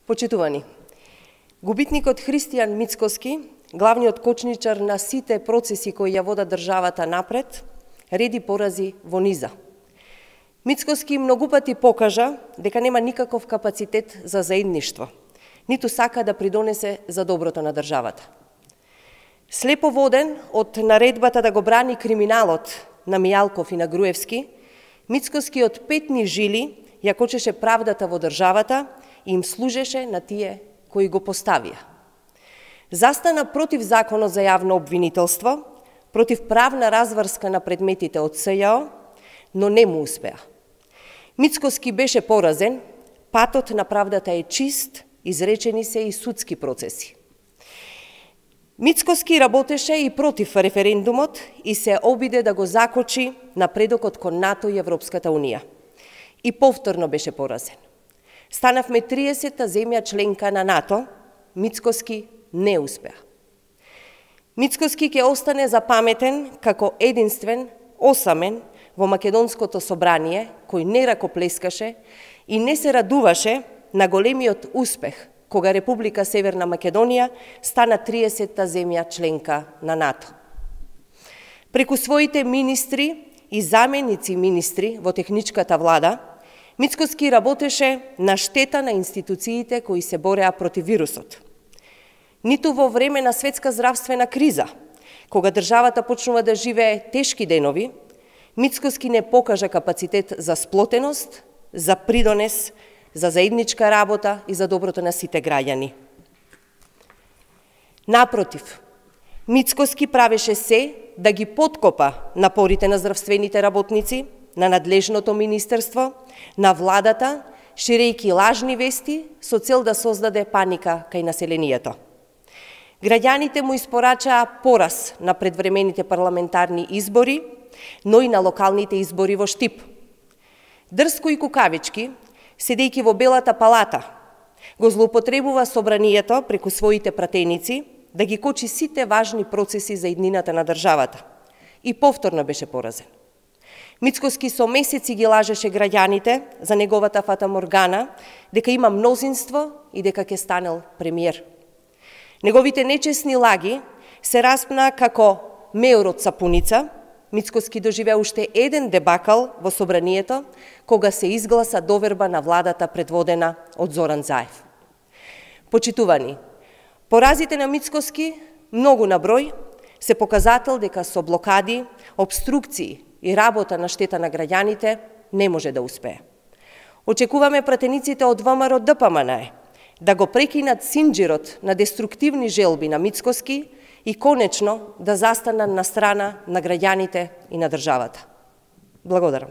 Почитувани, губитникот Христијан Мицкоски, главниот кочничар на сите процеси кои ја водат државата напред, реди порази во низа. Мицкоски многу пати покажа дека нема никаков капацитет за заедништво, ниту сака да придонесе за доброто на државата. Слепо воден од наредбата да го брани криминалот на Мијалков и на Груевски, Мицкоски од петни жили ја кочеше правдата во државата и им служеше на тие кои го поставија. Застана против законот за јавно обвинителство, против правна разврска на предметите од СЈО, но не му успеа. Мицкоски беше поразен, патот на правдата е чист, изречени се и судски процеси. Мицкоски работеше и против референдумот и се обиде да го закочи напредокот кон НАТО и Европската Унија. И повторно беше поразен. Станавме 30-та земја членка на НАТО, Мицкоски не успеа. Мицкоски ќе остане запаметен како единствен, осамен во Македонското собрание, кој не ракоплескаше и не се радуваше на големиот успех кога Република Северна Македонија стана 30-та земја членка на НАТО. Преку своите министри и заменици министри во техничката влада, Мицкоски работеше на штета на институциите кои се бореа против вирусот. Ниту во време на светска здравствена криза, кога државата почнува да живее тешки денови, Мицкоски не покажа капацитет за сплотеност, за придонес, за заедничка работа и за доброто на сите граѓани. Напротив, Мицкоски правеше се да ги подкопа напорите на здравствените работници, на надлежното министерство, на владата, ширејќи лажни вести со цел да создаде паника кај населението. Граѓаните му испорачаа пораз на предвремените парламентарни избори, но и на локалните избори во Штип. Дрско и кукавички, седејќи во Белата палата, го злоупотребува собранието преку своите пратеници да ги кочи сите важни процеси за иднината на државата. И повторно беше поразен. Мицкоски со месеци ги лажеше граѓаните за неговата фатаморгана дека има мнозинство и дека ќе станел премиер. Неговите нечесни лаги се распна како меор од сапуница. Мицкоски доживеа уште еден дебакал во собранието, кога се изгласа доверба на владата предводена од Зоран Заев. Почитувани, поразите на Мицкоски, многу на број, се показател дека со блокади, обструкции и работа на штета на граѓаните не може да успее. Очекуваме пратениците од ВМРО ДПМН да го прекинат синџирот на деструктивни желби на Мицкоски и конечно да застанат на страна на граѓаните и на државата. Благодарам.